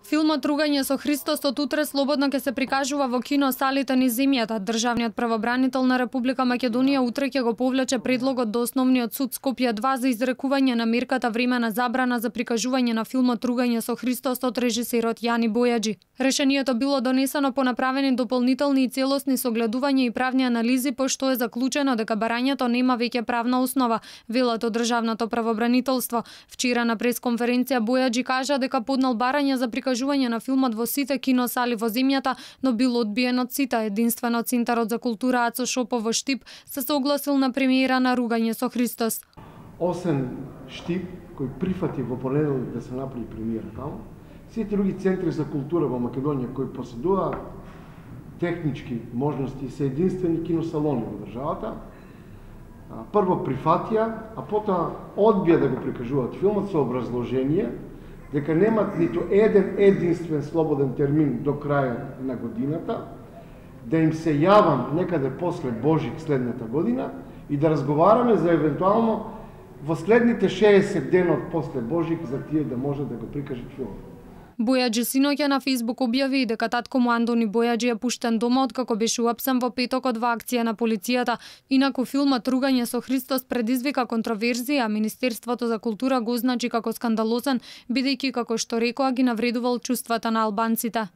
Филмот Ругање со Христос од утре слободно ќе се прикажува во кино салите низ земјата. Државниот правобранител на Република Македонија утре ќе го повлече предлогот до Основниот суд Скопје 2 за изрекување на мерката времена забрана за прикажување на филмот Ругање со Христос од режисерот Јани Бојаджи. Решението било донесено по направени дополнителни и целосни согледувања и правни анализи, пошто е заклучено дека барањето нема веќе правна основа, велат од Државното правобранителство. Вчера на пресконференција Бојаджи кажа дека поднал барање за прикажување на филмот во сите киносали во земјата, но бил одбиен од сите. Единствено Центарот за култура Ацо Шопов во Штип се согласил на премиера на Ругање со Христос. Осем Штип кој прифати во понеделник да се направи премиера таму, сите други центри за култура во Македонија кои поседуваат технички можности се единствени киносалони во државата, прво прифатија, а потоа одбија да го прикажуваат филмот со образложение дека немат ниту еден единствен слободен термин до крајот на годината, да им се јавам некаде после Божик следната година и да разговараме за евентуално во следните 60 денот после Божик за тие да може да го прикажат филмот. Бојаджи синоќа на Фейсбук објави дека татко му Андони Бојаджи е пуштен дома откако беше уапсен во петокот во акција на полицијата. Инаку филмот Ругање со Христос предизвика контроверзија, а Министерството за култура го означи како скандалозен, бидејќи како што рекоа ги навредувал чувствата на албанците.